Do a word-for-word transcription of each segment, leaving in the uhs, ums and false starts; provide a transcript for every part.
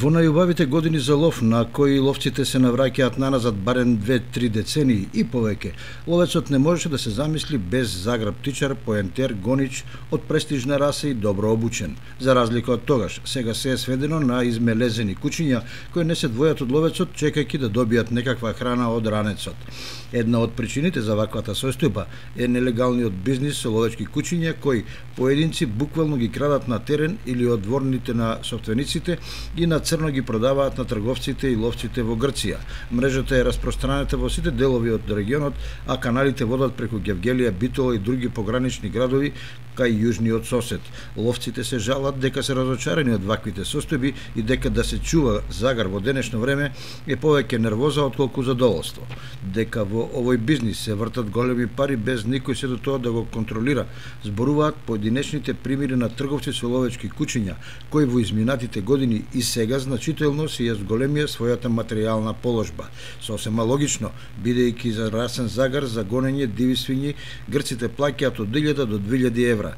Во најубавите години за лов, на кои ловците се навраќаат наназад барем две-три децении и повеќе, ловецот не можеше да се замисли без заграб птичар, поентер, гонич од престижна раса и добро обучен. За разлика од тогаш, сега се е сведено на измелезени кучиња кои не се двојат од ловецот, чекајќи да добијат некаква храна од ранецот. Една од причините за ваквата состојба е нелегалниот бизнис со ловечки кучиња кои поединци буквално ги крадат на терен или од дворните на собствениците и на црно ги продаваат на трговците и ловците во Грција. Мрежата е распространета во сите делови од регионот, а каналите водат преку Гевгелија, Битола и други погранични градови кај јужниот сосед. Ловците се жалат дека се разочарани од ваквите состојби и дека да се чува загар во денешно време е повеќе нервоза отколку задоволство. Дека во овој бизнис се вртат големи пари без никој се до тоа да го контролира, зборуваат поединечните примери на трговци со ловечки кучиња, кои во изминатите години и сега значително се ја зголемија својата материјална положба. Сосема логично, бидејќи за расен загар за гонење диви свињи грците плаќаат од илјада до две илјади евра.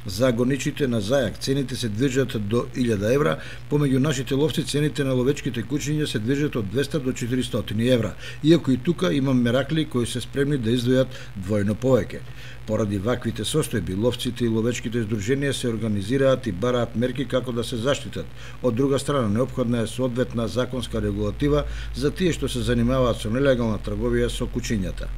За гоничите на зајак цените се движат до илјада евра, помеѓу нашите ловци цените на ловечките кучиња се движат од двеста до четиристотини евра, иако и тука има меракли кои се спремни да издвојат двојно повеќе. Поради ваквите состојби, ловците и ловечките здруженија се организираат и бараат мерки како да се заштитат. Од друга страна, неопходна е соодветна законска регулатива за тие што се занимаваат со нелегална трговија со кучињата.